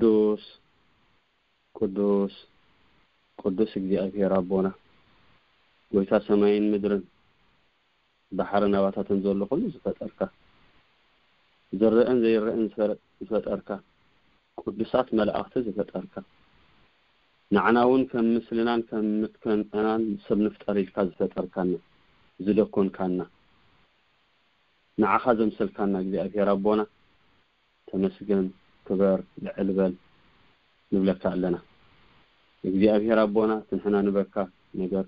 ቅዱስ ቅዱስ ቅዱስ እግዚኣብሔር ኣቦና፣ ጎይታ ሰማይን ምድርን፣ ባሕርን ኣባታትን ዘሎ ኩሉ ዝፈጠርካ፣ ዝረአን ዘይረአን ዝፈረ- ዝፈጠርካ፣ ቅዱሳት መላእኽቲ ዝፈጠርካ፣ ንዓና እውን ከም ምስልናን ከም ምትከንናን ሰብ ንፍጠር ኢልካ ዝፈጠርካና፣ ዝደኮንካና፣ ንዓኻ ዘምሰልካና እግዚኣብሔር ኣቦና፣ ተመስገን፣ ክበር፣ ልዕል በል ንብለካ ኣለና። እግዚኣብሔር ኣቦና፣ እቲ ንሕና ንበካ ነገር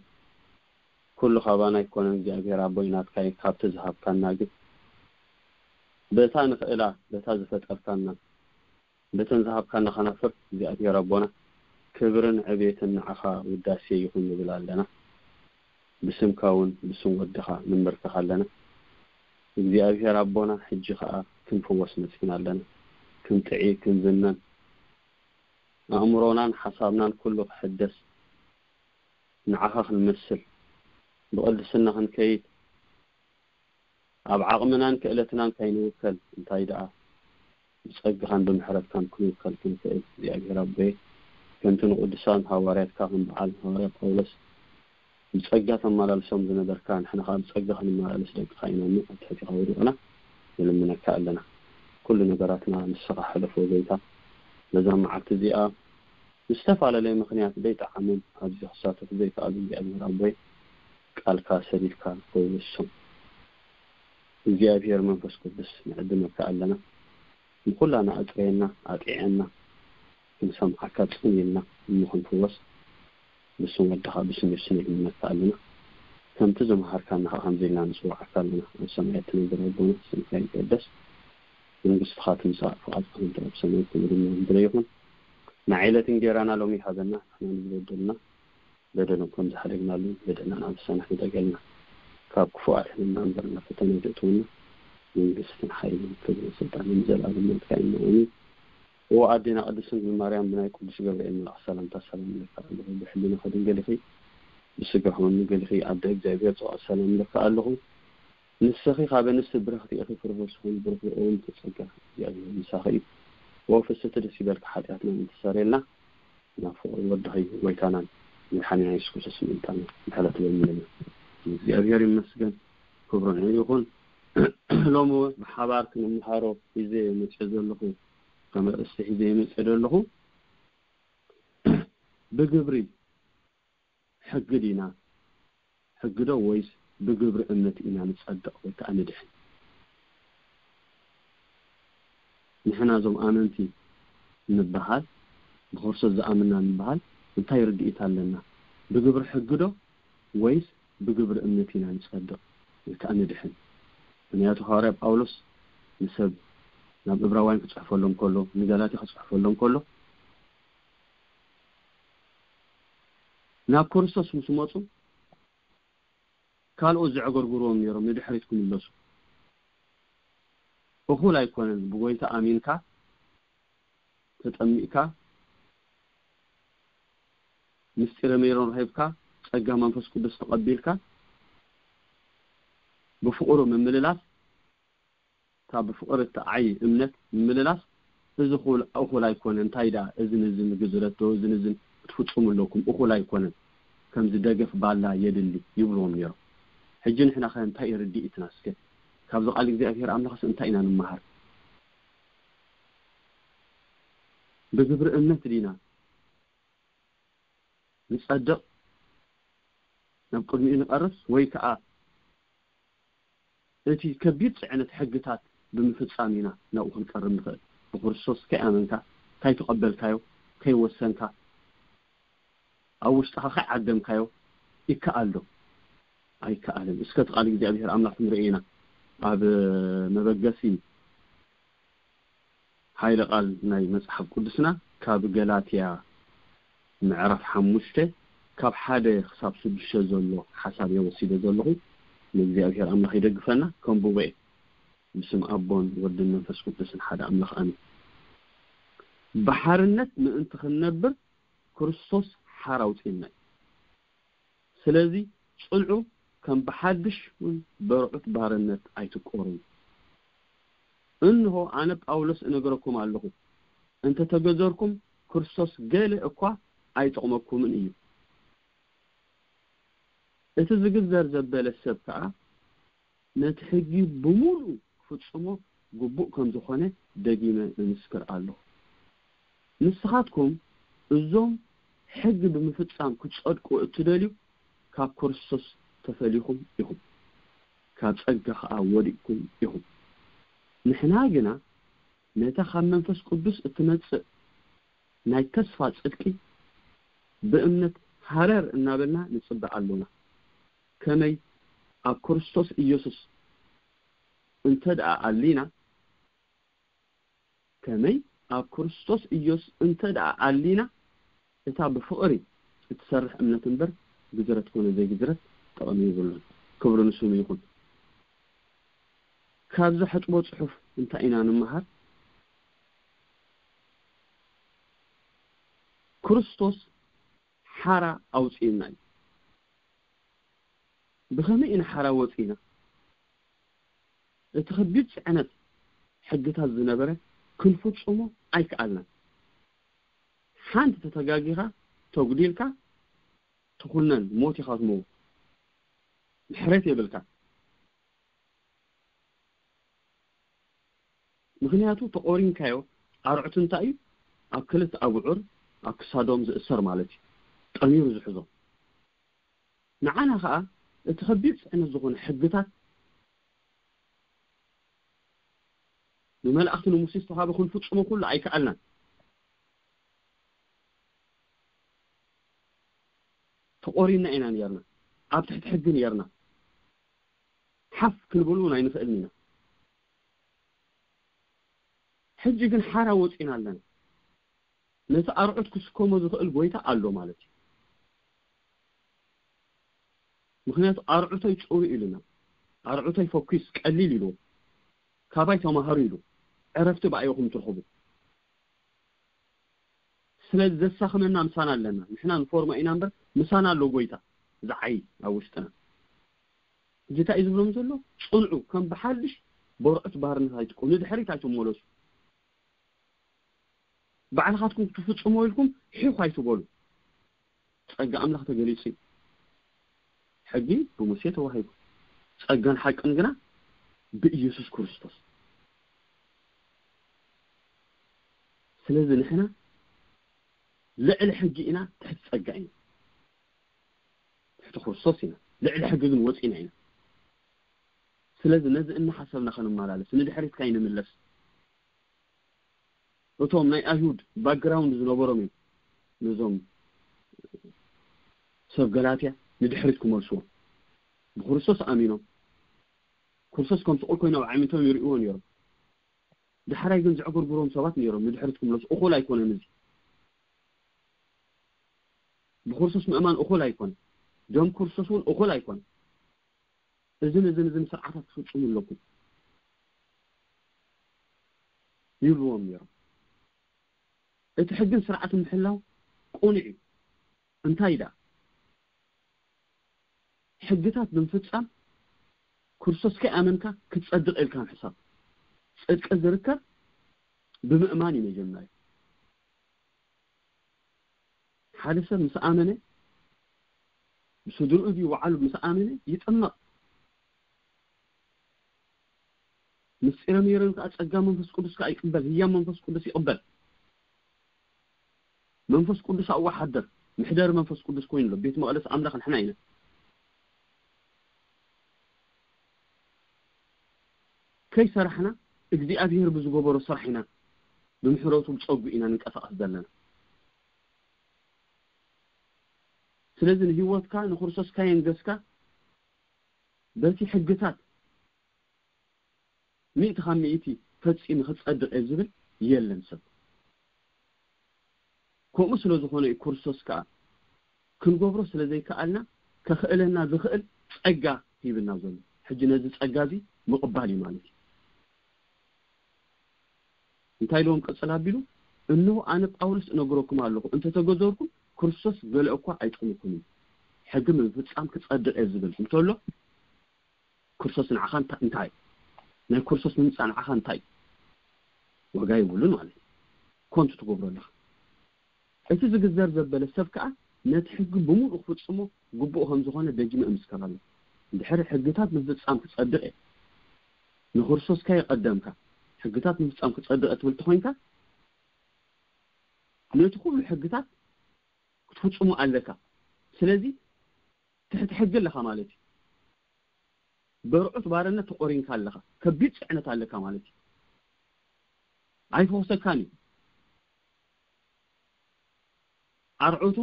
ኩሉ ካባና ኣይኮነን እግዚኣብሔር ኣቦይ፣ ናትካ እዩ። ካብቲ ዝሃብካና ግን በታ ንኽእላ፣ በታ ዝፈጠርካና፣ በተን ዝሃብካና ከነፍር እግዚኣብሔር ኣቦና፣ ክብርን ዕቤትን ንዓኻ ውዳሴ ይኹን ንብል ኣለና። ብስምካ እውን ብስም ወድኻ ንንበርከኽ ኣለና። እግዚኣብሔር ኣቦና፣ ሕጂ ኸኣ ክንፍወስ መጺና ኣለና። ክንጥዒ፣ ክንዝነን፣ ኣእምሮናን ሓሳብናን ኩሉ ክሕደስ፣ ንዓኻ ክንመስል፣ ብቕድስና ክንከይድ፣ ኣብ ዓቕምናን ክእለትናን ካይንውከል፣ እንታይ ደኣ ብጸግኻን ብምሕረትካን ክንውከል ክንክእል፣ እግዚኣብሔር ኣቦየ፣ ከምቲ ንቅዱሳን ሃዋርያትካ ከም በዓል ሃዋርያ ጳውሎስ ብጸጋ ተመላልሶም ዝነበርካ፣ ንሕና ኸኣ ብጸጋ ክንመላለስ ደቅኻ ኢና እሞ ኣብ ትሕቲኻ ወዲቕና ንልምነካ ኣለና። ኩሉ ነገራትና ንስኻ ሕለፎ ጎይታ። በዛ መዓልቲ እዚኣ ብዝተፈላለየ ምኽንያት ዘይጠዓሞም ኣብዚ ክሳተፉ ዘይከኣሉ እግዚኣብሔር ኣቦይ ቃልካ ሰዲድካ ፈውሶም። እግዚኣብሔር መንፈስ ቅዱስ ንዕድመካ ኣለና። ንኹላና ኣጥረየና፣ ኣጥዕየና፣ ክንሰምዓካ ጽን ኢልና እሞ ክንፍወስ ብስም ወድኻ ብስም የሱስ ንልምነካ ኣለና። ከምቲ ዝመሃርካና ኸዓ ከምዚ ኢልና ንጽውዓካ ኣለና። ኣብ ሰማይ እትነብር ኣቦና ስምካ ይቀደስ። መንግስትኻ ትምጻእ ፍቓድካ ከምቲ ኣብ ሰማይ ከምኡ ድማ ምድሪ ይኹን። ንዓይለት እንጌራና ሎሚ ሃበና። ንሕና ንዝበደሉና በደሎም ከም ዝሓደግናሉ በደልና ንኣበሳና ሕደገልና። ካብ ክፉእ ኣድሕነና እምበር ናብ ፈተነ ኣይተእትወና። መንግስትን ሓይልን ክብርን ስልጣንን ንዘለኣለም ናትካ እዩ። ኣሜን። እወ ኣዴና ቅድስት ድንግል ማርያም ብናይ ቅዱስ ገብርኤል መልኣኽ ሰላምታ ሰላም እለካ ኣለኹ። ብሕልናኺ ድንግል ኢኺ፣ ብስጋኺ እውን ድንግል ኢኺ። ኣደ እግዚኣብሔር ጽባኦት ሰላም እለካ ኣለኹ። ንስኺ ካብ ኣንስቲ ብርኽቲ ኢኺ፣ ፍረ ከርስኺ እውን ብሩኽ እዩ። ኦ ምልዕቲ ጸጋ እግዚኣብሔር ምሳኺ እዩ። ኦ ፍስሕቲ ደስ ይበልኪ፣ ሓጢኣትና እተሰርየልና ናብ ፍቕሪ ወድኺ ጎይታናን መድሓኒና የሱስ ክርስቶስ ምእንታና ምሕረት በምልና። እግዚኣብሔር ይመስገን፣ ክብሩ ንዕኡ ይኹን። ሎሚ እውን ብሓባር ክንምሃሮ ሒዘ መፅእ ዘለኹ ከም ኣርእስቲ ሒዘ መፅእ ዘለኹ ብግብሪ ሕጊ ዲና ሕጊ ዶ ወይስ ብግብሪ እምነት ኢና ንጸድቕ ወይ ከዓ ንድሕን? ንሕና እዞም ኣመንቲ ንበሃል፣ ብክርስቶስ ዝኣምንና ንበሃል እንታይ ርድኢት ኣለና? ብግብሪ ሕጊ ዶ ወይስ ብግብሪ እምነት ኢና ንጸድቕ ወይ ከዓ ንድሕን? ምክንያቱ ሃዋርያ ጳውሎስ ንሰብ ናብ እብራውያን ክጽሕፈሎም ከሎ፣ ንገላትያ ክጽሕፈሎም ከሎ ናብ ክርስቶስ ምስ መጹ ካልኦት ዘዕገርግርዎም ነይሮም ንድሕሪት ክምለሱ። እኹል ኣይኮነን ብጎይታ ኣሚንካ ተጠሚቕካ ምስጢረ ሜሮን ረኺብካ ጸጋ መንፈስ ቅዱስ ተቐቢልካ ብፍቕሩ ምምልላስ ካብ ብፍቕሪ እትዓዪ እምነት ምምልላስ እዚ እኹል ኣይኮነን። እንታይ ደኣ እዝን እዝን ግዝረት ዶ እዝን እዝን ክትፍጽሙ ኣለኩም እኹል ኣይኮነን። ከምዚ ደገፍ ባላ የድሊ ይብልዎም ነይሮም። ሕጂ ንሕና ከ እንታይ እዩ ርድኢትና? እስከ ካብዚ ቃል እግዚኣብሔር ኣምላኽስ እንታይ ኢና ንመሃር? ብግብሪ እምነት ዲና ንጸድቕ ናብ ቅድሚኡ ንቐርብ ወይ ከኣ እቲ ከቢድ ጽዕነት ሕግታት ብምፍጻም ኢና ናብኡ ክንቀርብ ንኽእል። ብክርስቶስ ከይኣመንካ፣ ከይተቐበልካዮ፣ ከይወሰንካ፣ ኣብ ውሽጥኻ ከይዓደምካዮ ይከኣል ዶ? ኣይከኣልን። እስከ እቲ ቃል እግዚኣብሔር ኣምላኽ ክንርኢ ኢና። ኣብ መበገሲ ሓይለ ቃል ናይ መጽሓፍ ቅዱስና ካብ ገላትያ ምዕራፍ ሓሙሽተ ካብ ሓደ ክሳብ ሽዱሽተ ዘሎ ሓሳብ እየ ወሲደ ዘለኹ። ንእግዚኣብሔር ኣምላኽ ይደግፈና። ከንብቦ እየ። ብስም ኣቦን ወድን መንፈስ ቅዱስን ሓደ ኣምላኽ ኣሜን። ብሓርነት ምእንቲ ክንነብር ክርስቶስ ሓር ኣውጺእና እዩ። ስለዚ ጽንዑ፣ ከም ብሓድሽ እውን በርዑት ባርነት ኣይትቆሩ። እንሆ ኣነ ጳውሎስ እነግረኩም ኣለኹ፣ እንተተገዘርኩም፣ ክርስቶስ ገለ እኳ ኣይጠቕመኩምን እዩ። እቲ ዝግዘር ዘበለ ሰብ ከኣ ነቲ ሕጊ ብምሉኡ ክፍጽሞ ግቡእ ከም ዝኾነ ደጊመ እምስክር ኣለኹ። ንስኻትኩም እዞም ሕጊ ብምፍጻም ክትጸድቁ እትደልዩ፣ ካብ ክርስቶስ ተፈሊኹም ኢኹም፣ ካብ ጸጋ ኸኣ ወዲቕኩም ኢኹም። ንሕና ግና ነታ ካብ መንፈስ ቅዱስ እትመጽእ ናይ ተስፋ ጽድቂ ብእምነት ሃረር እናበልና ንጽበ ኣሎና። ከመይ ኣብ ክርስቶስ ኢየሱስ እንተ ደኣ ኣሊና፣ ከመይ ኣብ ክርስቶስ ኢየሱስ እንተ ደኣ ኣሊና፣ እታ ብፍቕሪ እትሰርሕ እምነት እምበር፣ ግዝረት ኮነ ዘይግዝረት ጠቕሚ የብሉን። ክብሪ ንስሙ ይኹን። ካብዚ ሕጥቦ ጽሑፍ እንታይ ኢና ንምሃር? ክርስቶስ ሓራ ኣውጺእና እዩ። ብኸመይ ኢና ሓራ ወጺእና? እቲ ከቢድ ጽዕነት ሕግታት ዝነበረ ክንፍጽሞ ኣይከኣልናን። ሓንቲ ተተጋጊኻ፣ ተጉዲልካ፣ ትኹነን፣ ሞት ኢኻ ትመውት። ምሕረት የብልካ። ምኽንያቱ ተቖሪንካዮ፣ ኣርዑት እንታይ እዩ? ኣብ ክልተ ኣብዑር ኣብ ክሳዶም ዝእሰር ማለት እዩ። ጠሚሩ ዝሕዞ። ንዓና ኸኣ እቲ ከቢድ ጽዕነት ዝኾነ ሕግታት ብመላእኽቲ ንሙሴ ዝተዋህበ ክንፍጽሞ ኩሉ ኣይከኣልናን። ተቖሪንና ኢና ነይርና። ኣብ ትሕቲ ሕጊ ነይርና። ሓፍ ክንብል እውን ኣይንኽእልን ኢና። ሕጂ ግን ሓራ ወጺና ኣለና። ነቲ ኣርዑት ክስከሞ ዝኽእል ጎይታ ኣሎ ማለት እዩ። ምኽንያቱ ኣርዑተይ ጽሩ ኢሉና። ኣርዑተይ ፈኲስ ቀሊል ኢሉ። ካባይ ተማሃሩ ኢሉ። ዕረፍቲ ብኣይኹም ትርኽቡ። ስለዚ ዘሳኽመና ምሳና ኣለና። ንሕና ንፎርማ ኢና እምበር ምሳና ኣሎ ጎይታ ዝዓይ ኣብ ውሽጥና። ሕጂ እንታይ እዩ ዝብሎም ዘሎ? ጽንዑ፣ ከም ብሓድሽ በርዑት ባርነት ኣይትኩኑ፣ ንድሕሪት ኣይትመለሱ። ባዕልኻትኩም ክትፍጽሞ ኢልኩም ሒኹ ኣይትበሉ። ጸጋ ኣምላኽ ተገሊጹ እዩ። ሕጊ ብሙሴ ተዋሂቡ፣ ጸጋን ሓቅን ግና ብኢየሱስ ክርስቶስ። ስለዚ ንሕና ልዕሊ ሕጊ ኢና፣ ትሕቲ ጸጋ ኢና። ትሕቲ ክርስቶስ ኢና፣ ልዕሊ ሕጊ ግን ወጺና ኢና። ስለዚ ነዚ እናሓሰብና ከንመላለስ፣ ንድሕሪት ካይንምለስ። እቶም ናይ ኣይሁድ ባክግራውንድ ዝነበሮም እዮም ነዞም ሰብ ገላትያ ንድሕሪት ክመልስዎም። ብክርስቶስ ኣሚኖም፣ ክርስቶስ ከም ስቑል ኮይኖም ኣዕሚቶም ይርእይዎ ነይሮም። ዳሕራይ ግን ዘዕገርግሮም ሰባት ነይሮም ንድሕሪት ክምለሱ። እኹል ኣይኮነን እዚ። ብክርስቶስ ምእማን እኹል ኣይኮነን። ደም ክርስቶስ እውን እኹል ኣይኮነን። እዝን እዝን እዝን ስርዓታት ትፍጽሙ ኣለኩም ይብልዎም ነይሮም። እቲ ሕግን ስርዓትን ምሕላው ቅኑዕ እዩ። እንታይ ደኣ? ሕግታት ብምፍጻም ክርስቶስ ከይኣመንካ ክትጸድቕ ኢልካ ምሕሳብ። ጽድቂ ዝርከብ ብምእማን እዩ መጀመርያ። ሓደ ሰብ ምስ ኣመነ፣ ብስድርኡ ድዩ ባዕሉ ምስ ኣመነ ይጥመቕ። ምስጢረ ሜሮን ከኣ ጸጋ መንፈስ ቅዱስ ከኣ ይቅበል፣ ህያብ መንፈስ ቅዱስ ይቅበል። መንፈስ ቅዱስ ኣብኡ ሓድር፣ መሕደሪ መንፈስ ቅዱስ ኮይኑ ኣሎ። ቤት መቕደስ ኣምላኽ ንሕና ኢና። ከይሰራሕና እግዚኣብሔር ብዝገበሮ ስራሕ ኢና፣ ብምሕረቱ ብጸጉ ኢና ንንቀሳቐስ ዘለና። ስለዚ ንህይወትካ ንክርስቶስ ካየንገስካ በቲ ሕግታት ሚእቲ ካብ ሚእቲ ፈጺሙ ክጸድቕ እየ ዝብል የለን ሰብ። ከምኡ ስለ ዝኾነ እዩ ክርስቶስ ከኣ ክንገብሮ ስለ ዘይከኣልና ከኽእለና ዝኽእል ጸጋ ሂብና ዘሎ። ሕጂ ነዚ ጸጋ እዚ ምቕባል እዩ ማለት እዩ። እንታይ ኢልዎም ቀጽል ኣቢሉ? "እንሆ ኣነ ጳውሎስ እነግረኩም ኣለኹ፣ እንተተገዘርኩም ክርስቶስ ገለ እኳ ኣይጠቕመኩምን። ሕጊ ብምፍጻም ክጸድቕ እየ" ዝብል እንተሎ፣ ክርስቶስ ንዓኻ እንታ-፣ እንታይ እዩ? ናይ ክርስቶስ ምምጻእ ንዓኻ እንታይ እዩ? ዋጋ የብሉን ማለት እዩ። ኮንቱ ትገብሮ ኣለኻ። እቲ ዝግዘር ዘበለ ሰብ ከኣ ነቲ ሕጊ ብምሉእ ክፍጽሞ ግቡእ ከም ዝኾነ ደጊመ እምስክር ኣለኹ። እንድሕር ሕግታት ምፍጻም ክጸድቕ እየ፣ ንክርስቶስ ከ የቐደምካ፣ ሕግታት ምፍጻም ክጸድቕ እየ ትብል ተኾይንካ፣ ነቲ ኩሉ ሕግታት ክትፍጽሞ ኣለካ። ስለዚ ትሕቲ ሕጊ ኣለኻ ማለት እዩ። በርዑት ባርነት ተቖሪንካ ኣለኻ፣ ከቢድ ጽዕነት ኣለካ ማለት እዩ። ኣይፈውሰካን እዩ። ኣርዑቱ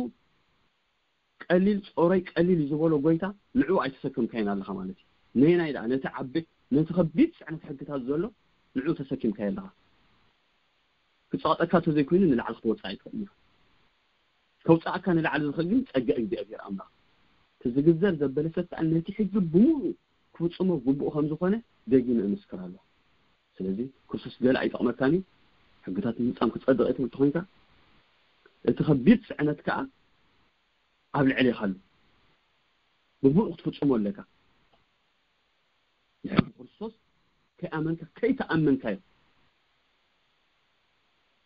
ቀሊል ጾረይ ቀሊል እዩ ዝበሎ ጎይታ ንዕኡ ኣይተሰከምካይን ኣለኻ ማለት እዩ። ነየናይ ደኣ ነቲ ዓቢ ነቲ ከቢድ ጽዕነት ሕግታት ዘሎ ንዕኡ ተሰኪምካዮ ኣለኻ። ክጸቕጠካ ተዘይኮይኑ ንላዕሊ ክትወጽእ ኣይትኽእልን ኢኻ። ከውጽኣካ ንላዕሊ ዝኽእል ግን ጸጋ እግዚኣብሔር ኣምላኽ። እቲ ዝግዘር ዘበለ ሰብ ከኣ ነቲ ሕጊ ብምሉእ ክፍጽሞ ግቡእ ከም ዝኾነ ደጊመ እምስክር ኣለኹ። ስለዚ ክርስቶስ ገለ ኣይጠቕመካን እዩ። ሕግታት ምፍጻም ክጸድቕ እየ ትብል ተኾይንካ፣ እቲ ከቢድ ጽዕነት ከኣ ኣብ ልዕሌኻ ኣሎ። ብምሉእ ክትፍጽሞ ኣለካ። ድሕሪ ክርስቶስ ከይኣመንካ፣ ከይተኣመንካዮ፣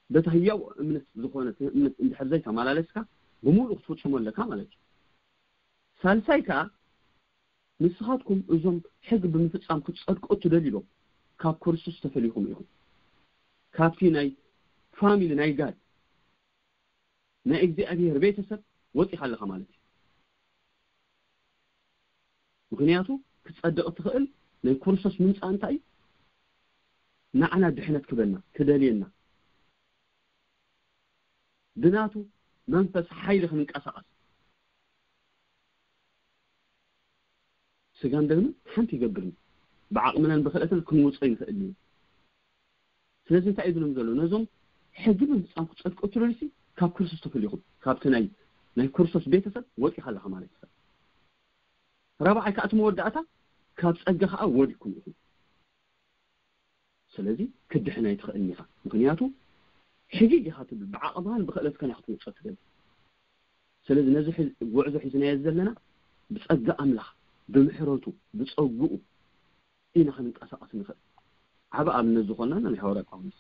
በቲ ህያው እምነት ዝኾነ እምነት እንድሕር ዘይተመላለስካ፣ ብምሉእ ክትፍጽሞ ኣለካ ማለት እዩ። ሳልሳይ ከኣ፣ ንስኻትኩም እዞም ሕግ ብምፍጻም ክትጸድቁ እትደልዩ ዶ፣ ካብ ክርስቶስ ተፈሊኹም ኢኹም። ካብቲ ናይ ፋሚሊ ናይ ጋድ፣ ናይ እግዚኣብሔር ቤተሰብ ወጺኻ ኣለኻ ማለት እዩ። ምኽንያቱ ክትጸድቕ እትኽእል ናይ ክርስቶስ ምምጻእ እንታይ እዩ? ንዓና ድሕነት ክበና፣ ክደልየና፣ ብናቱ መንፈስ ሓይሊ ክንንቀሳቐስ። ስጋን ደምን ሓንቲ ይገብርን፣ ብዓቕምናን ብኽእለትን ክንውጾ ይንኽእል እዩ። ስለዚ እንታይ እዩ ዝብሎም ዘሎ? ነዞም ሕጊ ብምፍጻም ክትጸድቁ እትደልዩሲ ካብ ክርስቶስ ተፈሊኹም፣ ካብቲ ናይ፣ ናይ ክርስቶስ ቤተሰብ ወጺኻ ኣለኻ ማለት እዩ። ራብዓይ ከኣ እቲ መወዳእታ፣ ካብ ጸጋ ከኣ ወዲኩም ኢኹም። ስለዚ ክድሕን ኣይትኽእልን ኢኻ። ምኽንያቱ ሕጊግ ኢኻ ትብል፣ ብዓቕምኻን ብኽእለትካን ኢኻ ክትውጾ ትደሊ። ስለዚ ነዚ ሒ-፣ ጉዕዞ ሒዝናዮ ዘለና ብጸጋ ኣምላኽ፣ ብምሕረቱ፣ ብጸግኡ ኢና ክንንቀሳቐስ ንኽእል። ዓቢ ኣብነት ዝኾነና ናይ ሃዋርያ ጳውሎስ።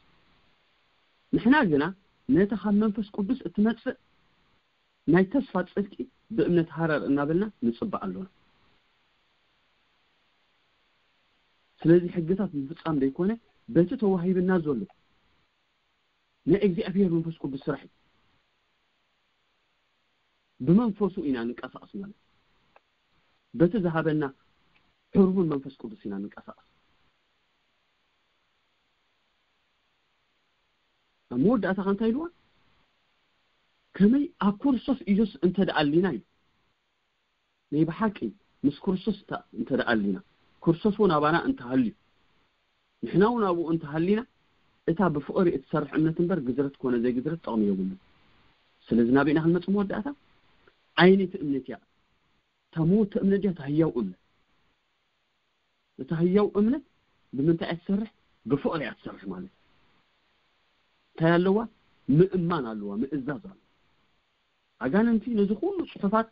ንሕና ግና ነታ ካብ መንፈስ ቅዱስ እትመጽእ ናይ ተስፋ ጽድቂ ብእምነት ሃረር እናበልና ንጽበ ኣሎና። ስለዚ ሕግታት ምፍጻም ዘይኮነ፣ በቲ ተዋሂብና ዘሎ ናይ እግዚኣብሔር መንፈስ ቅዱስ ስራሕ እዩ። ብመንፈሱ ኢና ንንቀሳቐስ ማለት እዩ። በቲ ዝሃበና ሕሩምን መንፈስ ቅዱስ ኢና ንንቀሳቐስ። ኣብ መወዳእታ ከ እንታይ ኢልዋ? ከመይ ኣብ ክርስቶስ ኢየሱስ እንተ ደኣ ኣሊና እዩ። ናይ ብሓቂ ምስ ክርስቶስ እንተ-፣ እንተ ደኣ ኣሊና፣ ክርስቶስ እውን ኣባና እንተሃልዩ፣ ንሕና እውን ኣብኡ እንተሃሊና፣ እታ ብፍቕሪ እትሰርሕ እምነት እምበር ግዝረት ኮነ ዘይግዝረት ጥቕሚ የብሉን። ስለዚ ናበይ ኢና ክንመጽእ መወዳእታ? ዓይነይቲ እምነት እያ። እታ ምውቲ እምነት እያ፣ እታ ህያው እምነት። እታ ህያው እምነት ብምንታይ እያ ትሰርሕ? ብፍቕሪ እያ ትሰርሕ ማለት እዩ። እንታይ ኣለዋ? ምእማን ኣለዋ፣ ምእዛዝ ኣለዋ። ኣጋንንቲ ነዚ ኩሉ ጽሑፋት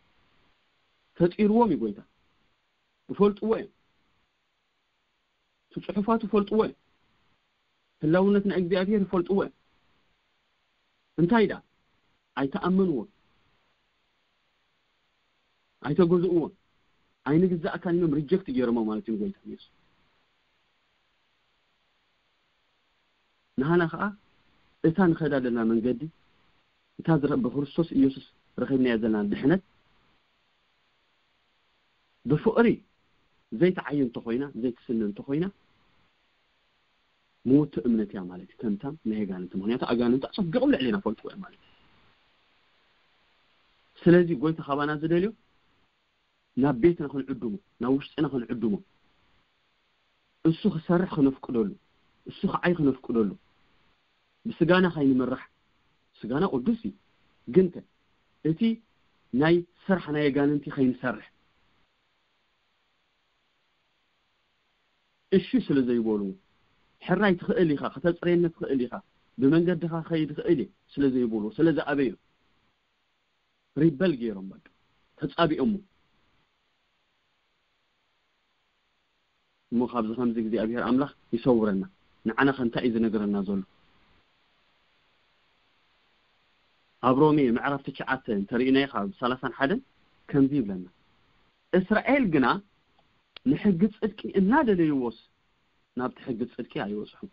ፈጢርዎም እዩ ጎይታ። ይፈልጥዎ እዮም። እቲ ጽሑፋት ይፈልጥዎ እዮም። ህላውነት ናይ እግዚኣብሔር ይፈልጥዎ እዮም። እንታይ ደኣ? ኣይተኣመንዎን፣ ኣይተገዝእዎን፣ ኣይንግዛእካን ኢሎም ሪጀክት ገይሮሞ ማለት እዩ ንጎይታ ኢየሱስ። ንሃና ኸዓ እታ ንኸዳ ዘለና መንገዲ፣ እታ ዝረ-፣ ብክርስቶስ ኢየሱስ ረኺብናያ ዘለና ድሕነት፣ ብፍቕሪ ዘይትዓዩ እንተኾይና፣ ዘይትስነ እንተኾይና፣ ምውቲ እምነት እያ ማለት እዩ። ተምታም ናይ ኣጋንንቲ፣ ምኽንያቱ ኣጋንንቲ ኣጸቢቖም ልዕሌና ፈልጥዎ እዮም ማለት እዩ። ስለዚ ጎይታ ካባና ዝደልዮ ናብ ቤትና ክንዕድሞ፣ ናብ ውሽጥና ክንዕድሞ፣ እሱ ክሰርሕ ክነፍቅደሉ፣ እሱ ክዓይ ክነፍቅደሉ፣ ብስጋና ከይንምራሕ። ስጋና ቅዱስ እዩ፣ ግን ከ እቲ ናይ ስራሕ ናይ ኣጋንንቲ ከይንሰርሕ። እሺ ስለ ዘይበሉ፣ ሕራይ ትኽእል ኢኻ፣ ከተጽርየኒ ትኽእል ኢኻ፣ ብመንገድኻ ከይድ ትኽእል እየ ስለ ዘይበሉ፣ ስለ ዝኣበዩ፣ ሪበል ገይሮም፣ በቃ ተጻቢኦሞ። እሞ ካብዚ ከምዚ እግዚኣብሔር ኣምላኽ ይሰውረና። ንዓና ከ እንታይ እዩ ዝነግረና ዘሎ? ኣብ ሮሜ ምዕራፍ ትሽዓተ እንተሪእናዮ ካብ ሰላሳን ሓደን ከምዚ ይብለና፣ እስራኤል ግና ንሕጊ ጽድቂ እናደለይዎስ ናብቲ ሕጊ ጽድቂ ኣይበጽሑን።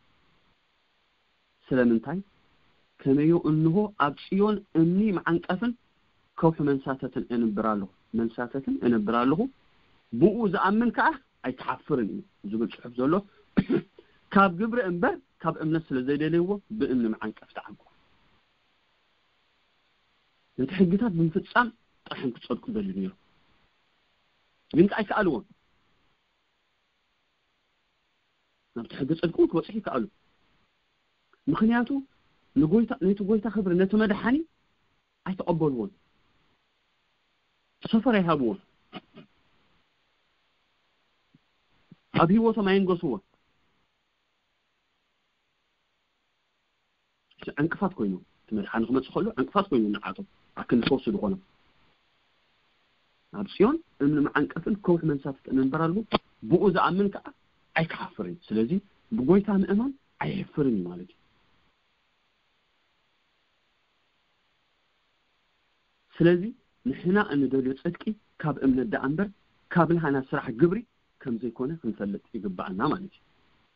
ስለምንታይ? ከመዮ እንሆ ኣብ ጽዮን እምኒ መዓንቀፍን ከውሒ መንሳተትን እንብር ኣለኹ፣ መንሳተትን እንብር ኣለኹ፣ ብኡ ዝኣምን ከኣ ኣይክሓፍርን እዩ ዝብል ጽሑፍ ዘሎ ካብ ግብሪ እምበር ካብ እምነት ስለ ዘይደለይዎ ብእምኒ መዓንቀፍ ተዓንቁ። ነቲ ሕግታት ብምፍጻም ጥራሕም ክጸድቁ ደልዩ ነይሩ፣ ግን ከኣ ኣይከኣልዎን። ናብቲ ሕጊ ጽድቂ እውን ክበጽሑ ይከኣሉ። ምኽንያቱ ንጎይታ፣ ነቲ ጎይታ ክብሪ፣ ነቲ መድሓኒ ኣይተቐበልዎን። ሰፈር ኣይሃብዎን። ኣብ ህይወቶም ኣየንገስዎን። ዕንቅፋት ኮይኑ፣ እቲ መድሓኒ ክመጽእ ከሎ ዕንቅፋት ኮይኑ ንዓቶም ኣክንፈውሱ ዝኾኖም። ኣብ ጽዮን እምኒ መዓንቀፍን ከውሒ መንሳፍትን እንበራሉ፣ ብኡ ዝኣምን ከኣ ኣይክሓፍርን። ስለዚ ብጎይታ ምእማን ኣየሕፍርን እዩ ማለት እዩ። ስለዚ ንሕና እንደልዮ ጽድቂ ካብ እምነት ደኣ እምበር ካብ ናህና ስራሕ ግብሪ ከም ዘይኮነ ክንፈልጥ ይግባኣና ማለት እዩ።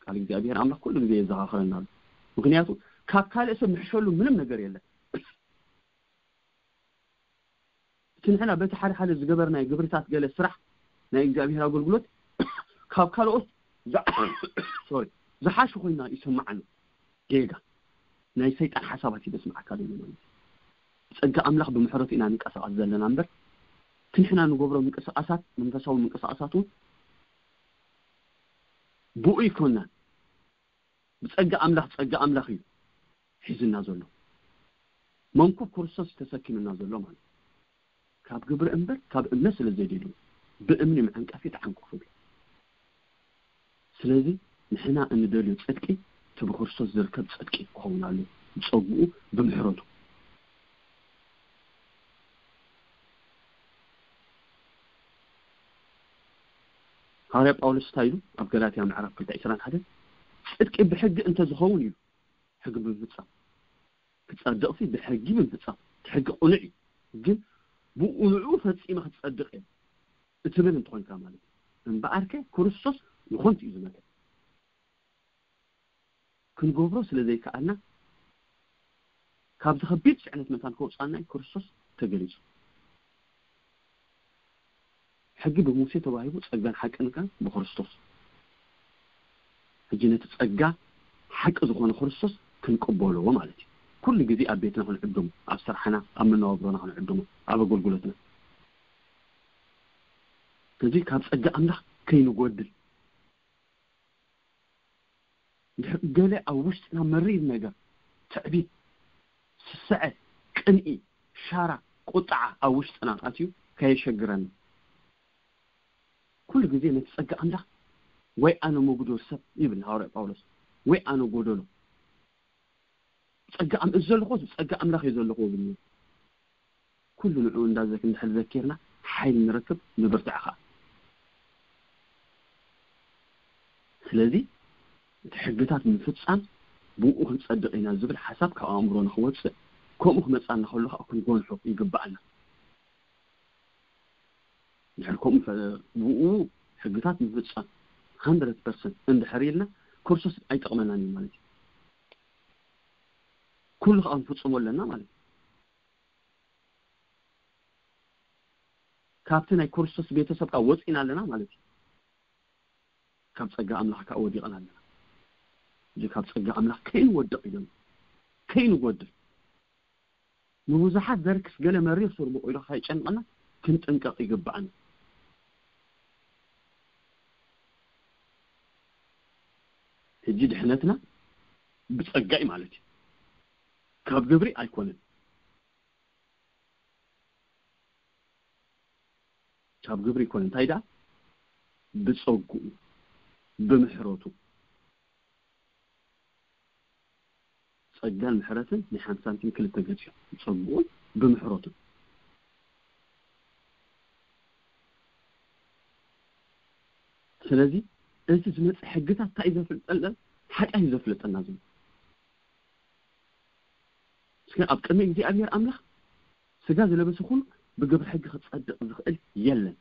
ቃል እግዚኣብሔር ኣምላኽ ኩሉ ግዜ የዘኻኽረና ኣሎ። ምኽንያቱ ካብ ካልእ ሰብ ንሕሸሉ ምንም ነገር የለን። እቲ ንሕና በቲ ሓደ ሓደ ዝገበርናዮ ግብርታት ገለ ስራሕ ናይ እግዚኣብሔር ኣገልግሎት ካብ ካልኦት ዝዓ-፣ ሶሪ፣ ዝሓሹ ኮይና ይስምዓና። ጌጋ ናይ ሰይጣን ሓሳባት እዩ ዘስምዓካ ዘሎ ማለት እዩ። ብጸጋ ኣምላኽ ብምሕረቱ ኢና ንንቀሳቐስ ዘለና እምበር እቲ ንሕና ንገብሮ ምንቅስቓሳት፣ መንፈሳዊ ምንቅስቓሳት እውን ብኡ ይኮናን። ብጸጋ ኣምላኽ፣ ጸጋ ኣምላኽ እዩ ሒዝና ዘሎ። መንኩብ ክርስቶስ እዩ ተሰኪምና ዘሎ ማለት እዩ። ካብ ግብሪ እምበር ካብ እምነት ስለ ዘይደልዩ ብእምኒ መዐንቀፊ ተዓንቀፉ። ስለዚ ንሕና እንደልዮ ጽድቂ እቲ ብክርስቶስ ዝርከብ ጽድቂ ክኸውን ኣሎ፣ ብጸግኡ ብምሕረቱ። ሃዋርያ ጳውሎስ እንታይ ኢሉ ኣብ ገላትያ ምዕራፍ ክልተ ዕስራን ሓደን? ጽድቂ ብሕጊ እንተዝኸውን ኢሉ፣ ሕጊ ብምፍጻም ክጸድቕሲ ብሕጊ ብምፍጻም፣ እቲ ሕጊ ቅኑዕ እዩ፣ ግን ብቕኑዑ ፈጺመ ክትጸድቕ እየ እትብል እንተኾይንካ ማለት እዩ። እምበኣርከ ክርስቶስ ንኾንቱ እዩ ዝመተ። ክንገብሮ ስለ ዘይከኣልና ካብዚ ከቢድ ጽዕነት መታን ከውጽኣና እዩ ክርስቶስ ተገሊጹ። ሕጊ ብሙሴ ተዋሂቡ፣ ጸጋን ሓቅን ከኣ ብክርስቶስ። ሕጂ ነቲ ጸጋ ሓቂ ዝኾነ ክርስቶስ ክንቅበሎ ማለት እዩ። ኩሉ ግዜ ኣብ ቤትና ክንዕድሞ፣ ኣብ ስራሕና፣ ኣብ መነባብሮና ክንዕድሞ፣ ኣብ ኣገልግሎትና። ስለዚ ካብ ጸጋ ኣምላኽ ከይንጎድል፣ እንድሕር ገለ ኣብ ውሽጥና መሪር ነገር፣ ትዕቢት፣ ስስዐ፣ ቅንኢ፣ ሻራ፣ ቁጥዓ ኣብ ውሽጥና ኣትዩ ከየሸግረና፣ ኩሉ ግዜ ነቲ ጸጋ ኣምላኽ፣ ወይ ኣነ መጉዶል ሰብ ይብል ሃዋርያ ጳውሎስ፣ ወይ ኣነ ጎደሎ። ጸጋ ኣም-፣ እዚ ዘለኹ፣ ጸጋ ኣምላኽ እዩ ዘለኹ ይብል። ኩሉ ንዕኡ እንዳ ዘክ-፣ እንድሕር ዘኪርና ሓይሊ ንረክብ፣ ንብርትዕ ኸኣ። ስለዚ እቲ ሕግታት ምፍጻም ብኡ ክንጸድቕ ኢና ዝብል ሓሳብ ካብ ኣእምሮና ክወጽእ፣ ከምኡ ክመጻና ከሎ ኸኣ ክንጎንሖ ይግብኣና። እንድሕር ከምኡ ፈ-፣ ብኡ ሕግታት ምፍጻም ሃንድረድ ፐርሰንት እንድሕር ኢልና፣ ክርስቶስ ኣይጠቕመናን እዩ ማለት እዩ። ኩሉ ኸኣ ክንፍጽሞ ኣለና ማለት እዩ። ካብቲ ናይ ክርስቶስ ቤተሰብ ከኣ ወጺና ኣለና ማለት እዩ። ካብ ጸጋ ኣምላኽ ከኣ ወዲቕና ኣለና። እዚ ካብ ጸጋ ኣምላኽ ከይንወድቕ ኢሎም፣ ከይንጎድል። ንብዙሓት ዘርክስ ገለ መሪር ሱር ብቑሉ ከይጨንቐና ክንጥንቀቕ ይግብኣና። ሕጂ ድሕነትና ብጸጋ እዩ ማለት እዩ። ካብ ግብሪ ኣይኮነን። ካብ ግብሪ ኣይኮነን። እንታይ ደኣ? ብጸግኡ፣ ብምሕረቱ። ጸጋን ምሕረትን ናይ ሓንቲ ሳንቲም ክልተ ገጽ እዮም። ብጸግኡን ብምሕረቱን። ስለዚ እቲ ዝመጽእ ሕግታት እንታይ እዩ ዘፍልጠና? ሓጢኣት እዩ ዘፍልጠና ዘሎ። ኣብ ቅድሚ እግዚኣብሔር ኣምላኽ ስጋ ዝለበሰ ኩሉ ብግብሪ ሕጊ ክጸድቕ ዝኽእል የለን።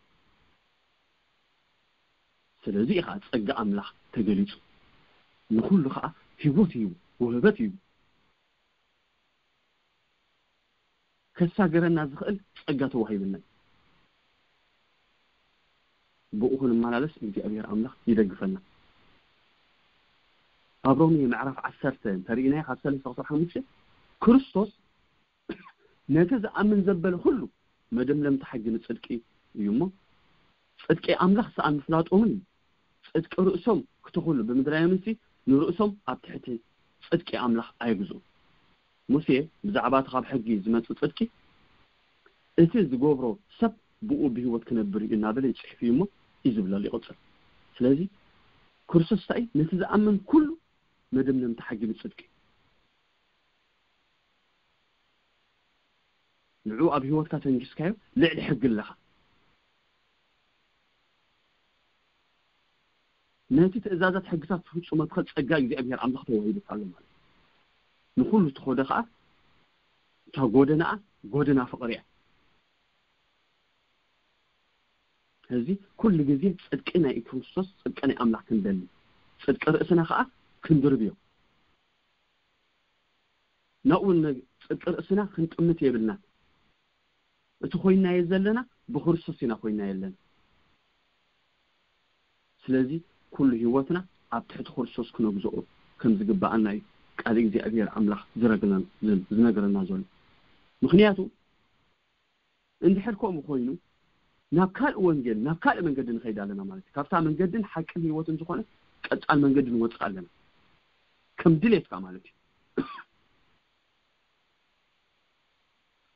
ስለዚ እዩ ከዓ ጸጋ ኣምላኽ ተገሊጹ። ንኹሉ ከዓ ህይወት እዩ፣ ውህበት እዩ። ከሳገረና ዝኽእል ጸጋ ተዋሂብና እዩ። ብኡ ክንመላለስ እግዚኣብሔር ኣምላኽ ይደግፈና። ኣብ ሮሜ ምዕራፍ ዓሰርተ እንተርኢናዮ ካብ ሰለስተ ክሳብ ሓሙሽተ ክርስቶስ ነቲ ዝኣምን ዘበለ ኩሉ መደምደምቲ ሕጊ ንጽድቂ እዩ እሞ፣ ጽድቂ ኣምላኽ ሰኣን ምፍላጦምን እዩ። ጽድቂ ርእሶም ክትኹሉ ብምድላዮምሲ ንርእሶም ኣብ ትሕቲ ጽድቂ ኣምላኽ ኣየግዝኡ። ሙሴ ብዛዕባ እቲ ካብ ሕጊ ዝመጽእ ጽድቂ፣ እቲ ዝገብሮ ሰብ ብኡ ብህይወት ክነብር እዩ እናበለ ይጽሕፍ እዩ እሞ እዩ ዝብለሉ ይቕጽል። ስለዚ ክርስቶስ እንታይ እዩ? ነቲ ዝኣምን ኩሉ መደምደምቲ ሕጊ ንጽድቂ እዩ። ንዑ ኣብ ህይወትካ ተንጊስካዮ ልዕሊ ሕጊ ኣለኻ። ነቲ ትእዛዛት ሕግታት ትፍጽሞ ትኽእል ጸጋ እግዚኣብሔር ኣምላኽ ተዋሂቡካ ኣሎ ማለት እዩ። ንኹሉ እትኸዶ ኸዓ እታ ጎደናኣ ጎደና ፍቕሪ እያ። እዚ ኩሉ ግዜ ጽድቂ ናይ ክርስቶስ ጽድቂ ናይ ኣምላኽ ክንደሊ ጽድቂ ርእስና ኸዓ ክንድርብዮ ናብኡ ጽድቂ ርእስና ክንጥምት የብልና። እቲ ኮይናዮ ዘለና ብክርስቶስ ኢና ኮይናዮ ኣለና። ስለዚ ኩሉ ህይወትና ኣብ ትሕቲ ክርስቶስ ክነግዝኦ ከም ዝግባኣና እዩ ቃል እግዚኣብሔር ኣምላኽ ዝረግና- ዝነግረና ዘሎ። ምክንያቱ እንድሕር ከምኡ ኮይኑ ናብ ካልእ ወንጌል ናብ ካልእ መንገዲ ንኸይድ ኣለና ማለት እዩ። ካብታ መንገድን ሓቅን ህይወትን ዝኾነ ቀጻል መንገዲ ንወፅእ ኣለና ከም ድሌትካ ማለት እዩ።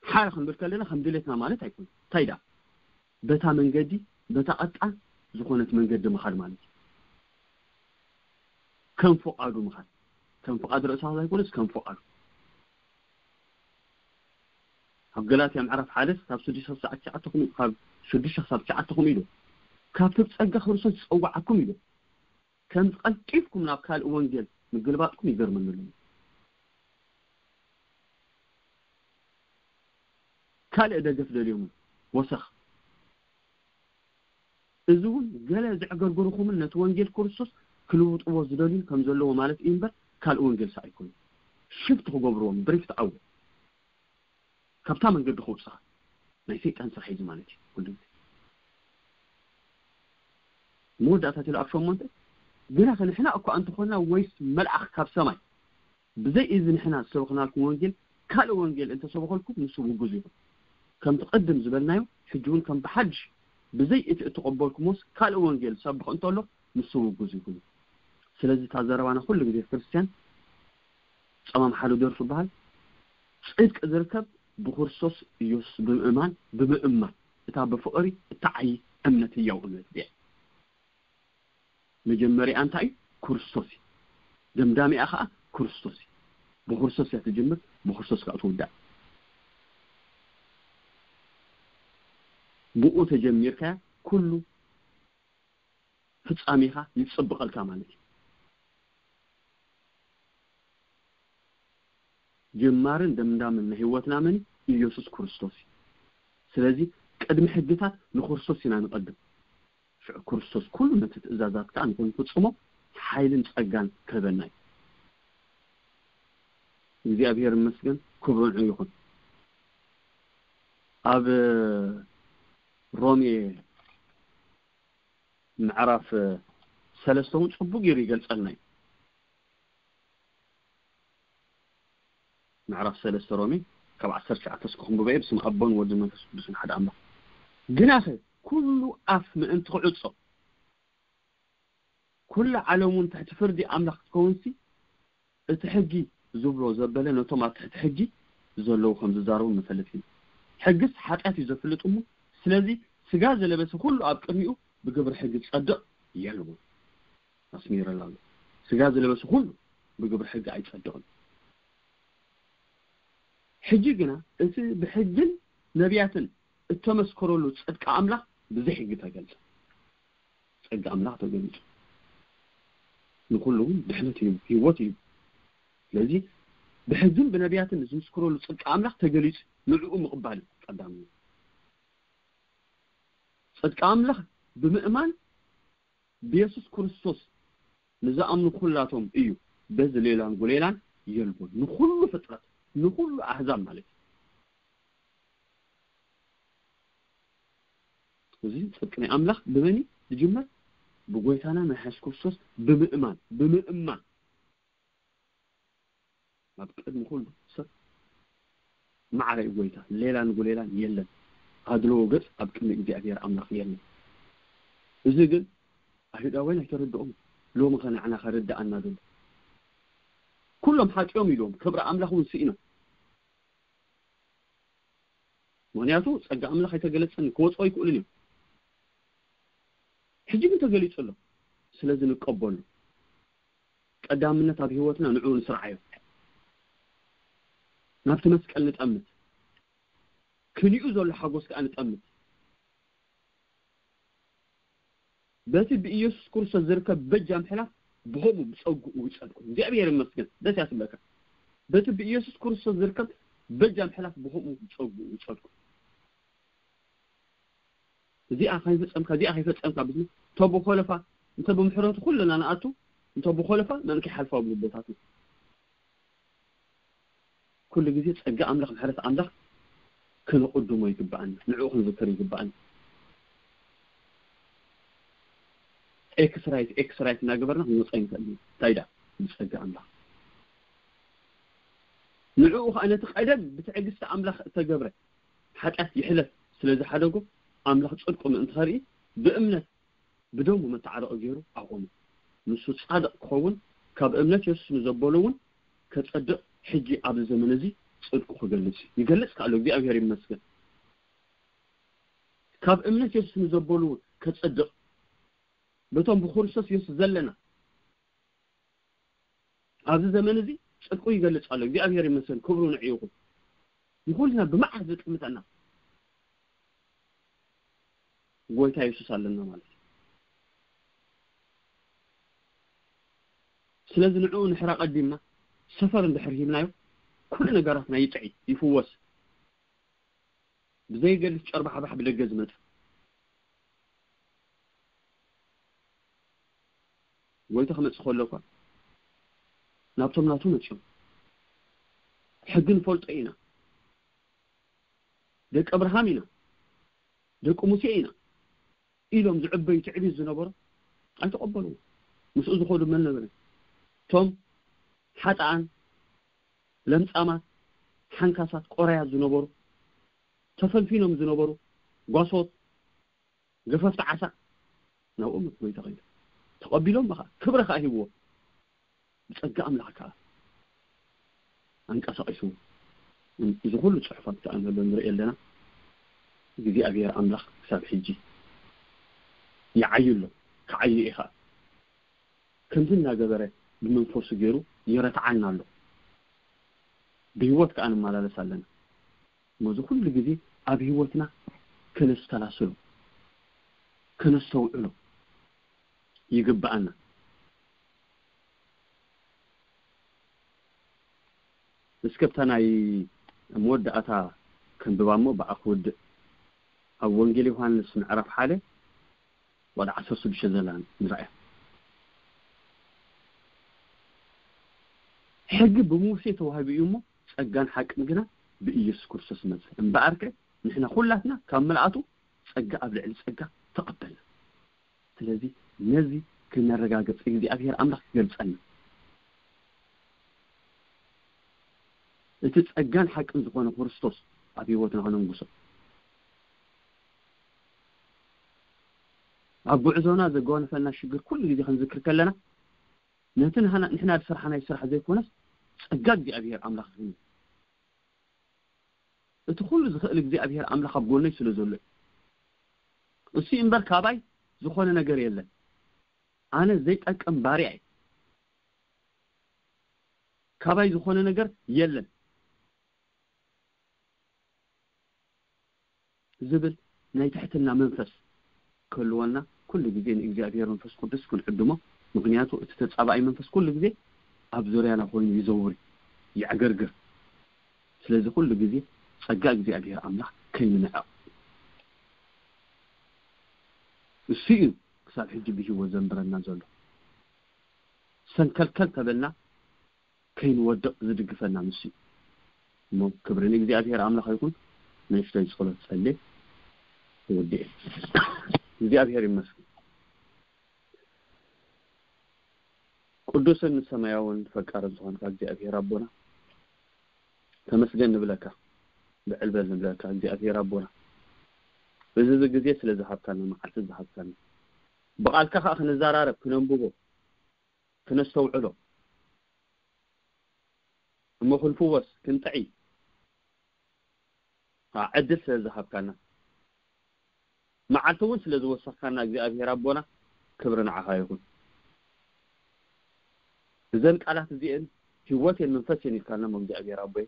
ሓረ ክንብል ከለና ከም ድሌትና ማለት ኣይኮነ እንታይ ዳ በታ መንገዲ በታ ቀጣን ዝኾነት መንገዲ ምኻድ ማለት እዩ። ከም ፍቓዱ ምኻድ ከም ፍቓድ ርእሳ ኣይኮነስ ከም ፍቓዱ። ኣብ ገላትያ ምዕራፍ ሓደ ካብ ሽዱሽተ ክሳብ ትሽዓተ ኹም ካብ ሽዱሽተ ክሳብ ትሽዓተ ኹም ኢሉ ካብቲ ብጸጋ ክርስቶስ ዝጸዋዓኩም ኢሉ ከም ቀልጢፍኩም ናብ ካልእ ወንጌል ምግልባጥኩም ይገርመኒ ኣሎ። ካልእ ደገፍ ደልዮም ወሰኽ እዚ እውን ገለ ዘዕገርገርኹምን ነቲ ወንጌል ክርስቶስ ክልውጥዎ ዝደልዩ ከም ዘለዎ ማለት እዩ እምበር ካልእ ወንጌል ሰ ኣይኮኑ ሽፍት ክገብርዎም ብሪፍት ኣው ካብታ መንገዲ ክውፅኻ ናይ ሰይጣን ስራሕ እዩ ማለት እዩ። ኩሉ ግዜ መወዳእታ ትል ኣብ ሸሞንተ ግና ንሕና እኳ እንተኾንና ወይስ መልኣኽ ካብ ሰማይ ብዘይ እዚ ንሕና ዝሰበኽናልኩም ወንጌል ካልእ ወንጌል እንተሰበኸልኩም ንሱ ውጉዝ ይኹን። ከምቲ ቅድም ዝበልናዮ ሕጂ እውን ከም ብሓድሽ ብዘይ እቲ እተቐበልኩሞስ ካልእ ወንጌል ዝሰብኽ እንተሎ ንሱ ውጉዝ ይኹን። ስለዚ እታ ዘረባና ኩሉ ግዜ ክርስትያን ጸማም ሓደ ደርፉ ይበሃል ጽድቂ ዝርከብ ብክርስቶስ ኢየሱስ ብምእማን ብምእማን እታ ብፍቕሪ እትዓዪ እምነት ህያው እምነት እያ። መጀመሪያ እንታይ እዩ? ክርስቶስ እዩ። ደምዳሚኣ ከዓ ክርስቶስ እዩ። ብክርስቶስ እያ ትጅምር፣ ብክርስቶስ ከዓ ትውዳእ። ብኡ ተጀሚርካያ ኩሉ ፍጻሜኻ ይጽብቐልካ ማለት እዩ። ጀማርን ደምዳምን ናይ ህይወትና መን እዩ? ኢየሱስ ክርስቶስ እዩ። ስለዚ ቅድሚ ሕግታት ንክርስቶስ ኢና ንቐድም። ሽዑ ክርስቶስ ኩሉ ነቲ ትእዛዛት ከዓ ንክንፍጽሞ ሓይልን ጸጋን ክህበና እዩ። እግዚኣብሔር ይመስገን፣ ክብሪ ንዑ ይኹን። ኣብ ሮሜ ምዕራፍ ሰለስተ እውን ጽቡቅ ገይሩ ይገልጸልና እዩ። ምዕራፍ ሰለስተ ሮሜ ካብ ዓሰርተ ትሽዓተ እስከ ክንብበ እየ። ብስም ኣቦን ወድን መንፈስ ቅዱስን ሓደ ኣምላኽ። ግናኸ ኩሉ ኣፍ ምእንቲ ክዕጾ ኩላ ዓለም እውን ትሕቲ ፍርዲ ኣምላኽ ክትከውንሲ እቲ ሕጊ ዝብሎ ዘበለ ነቶም ኣብ ትሕቲ ሕጊ ዘለዉ ከም ዝዛረቡ ንፈልጥ ኢና። ሕግስ ሓጢኣት እዩ ዘፍልጥ እሞ ስለዚ ስጋ ዝለበሰ ኩሉ ኣብ ቅድሚኡ ብግብሪ ሕጊ ዝጸድቕ የልቦን። ኣስሚረላ ኣሎ። ስጋ ዝለበሰ ኩሉ ብግብሪ ሕጊ ኣይጸድቕን። ሕጂ ግና እቲ ብሕግን ነቢያትን እተመስከረሉ ጽድቂ ኣምላኽ ብዘይ ሕጊ ተገልጸ። ጸጋ ኣምላኽ ተገሊጹ ንኹሉ እውን ድሕነት እዩ፣ ህይወት እዩ። ስለዚ ብሕግን ብነቢያትን ዝምስክረሉ ጽድቂ ኣምላኽ ተገሊጹ፣ ንዕኡ ምቕባል እዩ ቀዳሚ። ጽድቂ ኣምላኽ ብምእማን ብየሱስ ክርስቶስ ንዝኣምኑ ኩላቶም እዩ። በዚ ሌላን ጉሌላን የልቦን፣ ንኹሉ ፍጥረት፣ ንኹሉ ኣህዛብ ማለት እዩ። እዚ ጽድቂ ናይ ኣምላኽ ብመን እዩ ዝጅመር? ብጎይታና ናይ የሱስ ክርስቶስ ብምእማን፣ ብምእማን። ኣብ ቅድሚ ኩሉ ሰብ ማዕረ እዩ ጎይታ፣ ሌላን ጉሌላን የለን። ኣድልዎ ገጽ ኣብ ቅድሚ እግዚኣብሔር ኣምላኽ የለን። እዚ ግን ኣይሁዳውያን ኣይተረድኦም። ሎሚ ከ ንዓና ከረድኣና ዘሎ? ኩሎም ሓጢኦም ኢሎም፣ ክብሪ ኣምላኽ እውን ስኢኖም። ምኽንያቱ ጸጋ ኣምላኽ ኣይተገለጸን፣ ክወጽኦ ኣይክእሉን እዮም። ሕጂ ግን ተገሊጹ ኣሎ። ስለዚ ንቀበሉ። ቀዳምነት ኣብ ህይወትና ንዕኡ ንስርዓዮ። ናብቲ መስቀል ንጠምት። ክንኡ ዘሎ ሓጎስ ከኣ ንጠምት። በቲ ብኢየሱስ ክርስቶስ ዝርከብ በጃ ምሕላፍ ብኸምኡ ብጸግኡ ይጸድቁ። እግዚኣብሔር ይመስገን። ደስ ያስብለካ። በቲ ብኢየሱስ ክርስቶስ ዝርከብ በጃ ምሕላፍ ብኸምኡ ብጸግኡ ይጸድቁ። እዚኣ ከይፈጸምካ፣ እዚኣ ከይፈጸምካ ብዝብል፣ እንተ ብኾለፋ፣ እንተ ብምሕረቱ ኩልና ንኣቱ፣ እንተ ብኾለፋ መን ከይሓልፋ ኣብ ልቦታትና። ኩሉ ግዜ ጸጋ ኣምላኽ፣ ምሕረት ኣምላኽ ክንቕድሞ ይግብኣና፣ ንዕኡ ክንዝክር ይግብኣና። ኤክስራይት፣ ኤክስራይት እናገበርና ክንወጻ ይንክእል ኢና። እንታይ ደኣ? ብጸጋ ኣምላኽ። ንዕኡ ኸኣ ነቲ ቀደም ብትዕግስቲ ኣምላኽ እተገብረ ሓጢኣት ይሕለፍ ስለ ዝሓደጎ፣ ኣምላኽ ጽድቁ ምእንቲ ኸርኢ ብእምነት ብደሙ መተዓረቒ ገይሩ ኣቖሞ። ንሱ ጻድቕ ክኸውን ካብ እምነት የሱስ ንዘበሉ እውን ከጸድቕ ሕጂ ኣብዚ ዘመን እዚ ጽድቁ ክገልጽ እዩ። ይገልጽ ከኣ ኣሎ። እግዚኣብሔር ይመስገን። ካብ እምነት የሱስ ንዘበሉ እውን ከጸድቕ በቶም ብክርስቶስ የሱስ ዘለና ኣብዚ ዘመን እዚ ጽድቁ ይገልጽ ኣሎ። እግዚኣብሔር ይመስገን፣ ክብሩ ንዕኡ ይኹን። ንኹልና ብመዓር ዘጥምተና ጎይታ የሱስ ኣለና ማለት እዩ። ስለዚ ንዕኡ ንሕራ ቀዲምና ሰፈር እንድሕር ሂብናዮ፣ ኩሉ ነገራትና ይጥዒ፣ ይፍወስ። ብዘይገድፍ ጨርባሕባሕ ብደገ ዝመጽእ ጎይታ ክመጽእ ከሎ እኳ ናብቶም ናቱ መጺኦም፣ ሕጊ ንፈልጦ ኢና፣ ደቂ ኣብርሃም ኢና፣ ደቂ ሙሴ ኢና ኢሎም ዝዕበዩ ትዕቢት ዝነበሩ ኣይተቐበልዎ። ምስኡ ዝኸዱ መን ነበረ? እቶም ሓጥኣን፣ ለምጻማት፣ ሓንካሳት፣ ቆራያት ዝነበሩ፣ ተፈልፊኖም ዝነበሩ ጓሶት፣ ገፈፍቲ ዓሳ ናብኦም እቲ ጎይታ ከይዱ። ተቐቢሎም ከዓ ክብሪ ከዓ ሂብዎ። ብጸጋ ኣምላኽ ከዓ ኣንቀሳቒስዎ። እዚ ኩሉ ጽሑፋት ከዓ እንህሎ ንርኢ ኣለና። እግዚኣብሔር ኣምላኽ ክሳብ ሕጂ ይዓዩ ኣሎ። ክዓዩ እዩ ከዓ። ከምዚ እናገበረ ብመንፈሱ ገይሩ ይረትዓና ኣሎ። ብህይወት ከዓ ንመላለስ ኣለና። ነዚ ኩሉ ግዜ ኣብ ህይወትና ከነስተላስሎ፣ ከነስተውዕሎ ይግብኣና። እስከ ብታ ናይ መወዳእታ ከንብባ እሞ ብኣ ክውድእ። ኣብ ወንጌል ዮሃንስ ምዕራፍ ሓደ ወደ ዓሰርተ ሽዱሽተ ዘላ ንርኣያ። ሕጊ ብሙሴ ተዋሂቡ እዩ እሞ፣ ጸጋን ሓቅን ግና ብኢየሱስ ክርስቶስ መጸ። እምበኣርከ ንሕና ኩላትና ካብ ምልኣቱ ጸጋ ኣብ ልዕሊ ጸጋ ተቐበልና። ስለዚ ነዚ ክነረጋግጽ እግዚኣብሔር ኣምላኽ ክገልጸና። እቲ ጸጋን ሓቅን ዝኾነ ክርስቶስ ኣብ ህይወትና ከነንግሶ። ኣብ ጉዕዞና ዘጓነፈና ሽግር ኩሉ ግዜ ክንዝክር ከለና፣ ነቲ ንሕና፣ ንሕና ዝሰርሓናዮ ስራሕ ዘይኮነስ፣ ጸጋ እግዚኣብሔር ኣምላኽ እዩ። እቲ ኩሉ ዝኽእል እግዚኣብሔር ኣምላኽ ኣብ ጎነይ ስለ ዘሎ እዩ። እሱ እምበር ካባይ ዝኾነ ነገር የለን። ኣነ ዘይጠቅም ባርያ እየ። ካባይ ዝኾነ ነገር የለን ዝብል ናይ ትሕትና መንፈስ ክህልወና ኩሉ ግዜ ንእግዚኣብሔር መንፈስ ቅዱስ ክንዕድሞ። ምኽንያቱ እቲ ተጻባኢ መንፈስ ኩሉ ግዜ ኣብ ዙርያና ኮይኑ ይዘውር እዩ። የዕገርግር። ስለዚ ኩሉ ግዜ ጸጋ እግዚኣብሔር ኣምላኽ ከይንንዕቕ፣ እሱ እዩ ክሳብ ሕጂ ብህይወት ዘንብረና ዘሎ። ሰንከልከል ተበልና ከይንወድቕ ዝድግፈና ንሱ እዩ። እሞ ክብሪ ንእግዚኣብሔር ኣምላኽ ይኹን። ንእሽተይ ጸሎት ጸልየ ወዲኤ። እግዚኣብሔር ይመስገን። ቅዱስን ሰማያውን ፈቃርን ዝኾንካ እግዚኣብሔር ኣቦና፣ ተመስገን ንብለካ፣ ብዕል በል ንብለካ እግዚኣብሔር ኣቦና፣ እዚ ግዜ ስለ ዝሃብካና፣ መዓልቲ ዝሃብካና፣ ብቓልካ ከኣ ክንዘራረብ፣ ክነንብቦ፣ ክነስተውዕሎ፣ እሞ ክንፍወስ፣ ክንጥዒ፣ ዓ-፣ ዕድል ስለ ዝሃብካና፣ መዓልቲ እውን ስለ ዝወሰኽካና እግዚኣብሔር ኣቦና፣ ክብሪ ንዓኻ ይኹን። እዘን ቃላት እዚኤን ህይወት እየን መንፈስ እየን ኢልካና እሞ እግዚኣብሔር ኣቦይ፣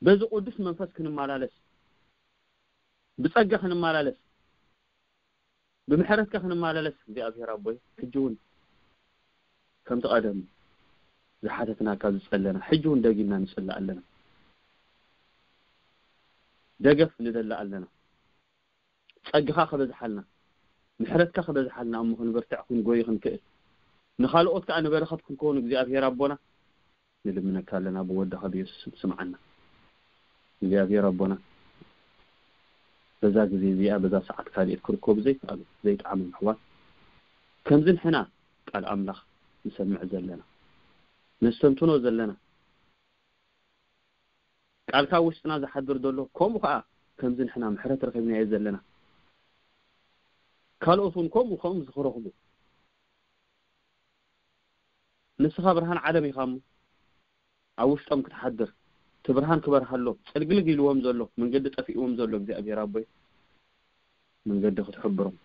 በዚ ቅዱስ መንፈስ ክንመላለስ፣ ብጸጋ ክንመላለስ፣ ብምሕረትካ ክንመላለስ እግዚኣብሔር ኣቦይ፣ ሕጂ እውን ከምቲ ቀደም ዝሓተትናካ ዝጸለና፣ ሕጂ እውን ደጊምና ንጽልእ ኣለና። ደገፍ ንደሊ ኣለና። ጸግኻ ክበዝሓልና፣ ምሕረትካ ክበዝሓልና፣ እሞ ክንበርትዕ፣ ክንጎይ፣ ክንክእል፣ ንኻልኦት ከኣ ንበረኸት ክንከውን እግዚኣብሔር ኣቦና ንልምነካ ኣለና። ብወድኻ ብየሱስ ስም ስምዓና እግዚኣብሔር ኣቦና። በዛ ግዜ እዚኣ፣ በዛ ሰዓት ካልኦት ክርከቡ ዘይከኣሉ፣ ዘይጠዓሞም ኣሕዋት፣ ከምዚ ንሕና ቃል ኣምላኽ ንሰምዕ ዘለና፣ ነስተንትኖ ዘለና፣ ቃልካ ኣብ ውሽጥና ዝሓድር ዘሎ፣ ከምኡ ከኣ ከምዚ ንሕና ምሕረት ረኺብናዮ ዘለና፣ ካልኦት እውን ከምኡ ከምኡ ዝኽረኽቡ፣ ንስኻ ብርሃን ዓለም ኢኻ እሞ፣ ኣብ ውሽጦም ክትሓድር፣ እቲ ብርሃን ክበርሃሎም፣ ጽልግልግ ኢልዎም ዘሎ፣ መንገዲ ጠፊእዎም ዘሎ እግዚኣብሔር ኣቦይ፣ መንገዲ ክትሕብሮም፣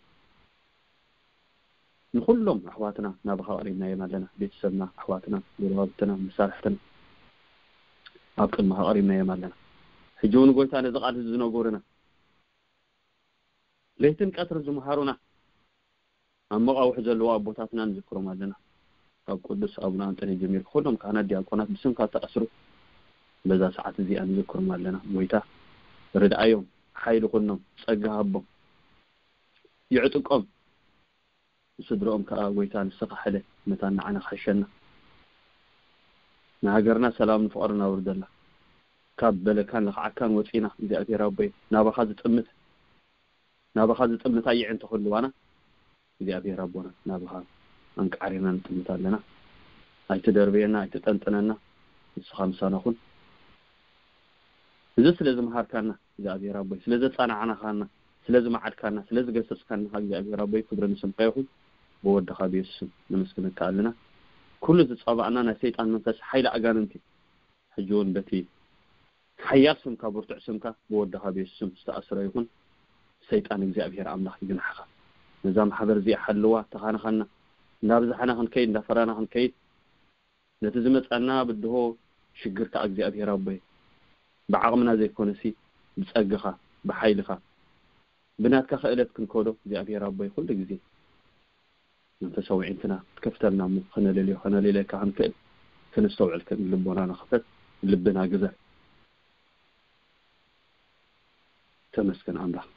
ንኹሎም ኣሕዋትና ናባኻ ኣቕሪብናዮም ኣለና። ቤተሰብና፣ ኣሕዋትና፣ ጎረባብትና፣ መሳርሕትና ኣብ ቅድመኻ ኣቕሪብናዮም ኣለና። ሕጂ እውን ጎይታ፣ ነዚ ቃል እዚ ዝነገሩና፣ ለይትን ቀትርን ዝመሃሩና፣ ኣብ መቓውሕ ዘለዉ ኣቦታትና ንዝክሮም ኣለና። ካብ ቅዱስ ኣቡነ ኣንጠንዮስ ጀሚሩ፣ ኩሎም ካህናት፣ ዲያቆናት ብስምካ ዝተኣስሩ በዛ ሰዓት እዚኣ ንዝክሮም ኣለና። ጎይታ ርድኣዮም፣ ሓይሊ ኩኖም፣ ጸጋ ሃቦም፣ ይዕጥቆም። ንስድርኦም ከኣ ጎይታ ንስኻ ሕለ፣ መታን ንዓና ክሕሸና። ንሃገርና ሰላምን ፍቕርን ኣውርደላ። ካብ በለካን ለኽዓካን ወጺና፣ እግዚኣብሔር ኣቦይ፣ ናባኻ ዝጥምት፣ ናባኻ ዝጥምት ኣየዕንተ ክህልዋና፣ እግዚኣብሔር ኣቦና፣ ናባኻ ኣንቃዕሪና ንጥምት ኣለና። ኣይትደርብየና፣ ኣይትጠንጥነና፣ ንስኻ ምሳና ኩን። እዚ ስለ ዝመሃርካና እግዚኣብሔር ኣቦይ፣ ስለ ዘጻናዕናኻና፣ ስለ ዝመዓድካና፣ ስለ ዝገሰጽካና፣ እግዚኣብሔር ኣቦይ፣ ክብሪ ንስምካ ይኹን። ብወድኻ ብየሱስ ስም ነመስግነካ ኣለና። ኩሉ ዝጸባእና ናይ ሰይጣን መንፈስ፣ ሓይሊ ኣጋንንቲ፣ ሕጂ እውን በቲ ሓያል ስምካ፣ ብርቱዕ ስምካ፣ ብወድኻ ብየሱስ ስም ዝተኣስረ ይኹን። ሰይጣን እግዚኣብሔር ኣምላኽ ይግናሕኻ። ነዛ ማሕበር እዚኣ ሓልዋ፣ ተኻንኻና፣ እንዳብዛሕና ክንከይድ፣ እንዳፈራና ክንከይድ፣ ነቲ ዝመጻና ብድሆ ሽግር ከኣ እግዚኣብሔር ኣቦይ፣ ብዓቕምና ዘይኮነሲ፣ ብጸግኻ፣ ብሓይልኻ፣ ብናትካ ክእለት ክንከዶ እግዚኣብሔር ኣቦይ፣ ኩሉ ግዜ መንፈሳዊ ኣዒንትና ክትከፍተልና እሞ፣ ከነለልዮ፣ ከነለልየካ ክንክእል፣ ከነስተውዕል፣ ከን ልቦናና ክፈት፣ ልብና ግዘር። ተመስገን ኣምላኽ።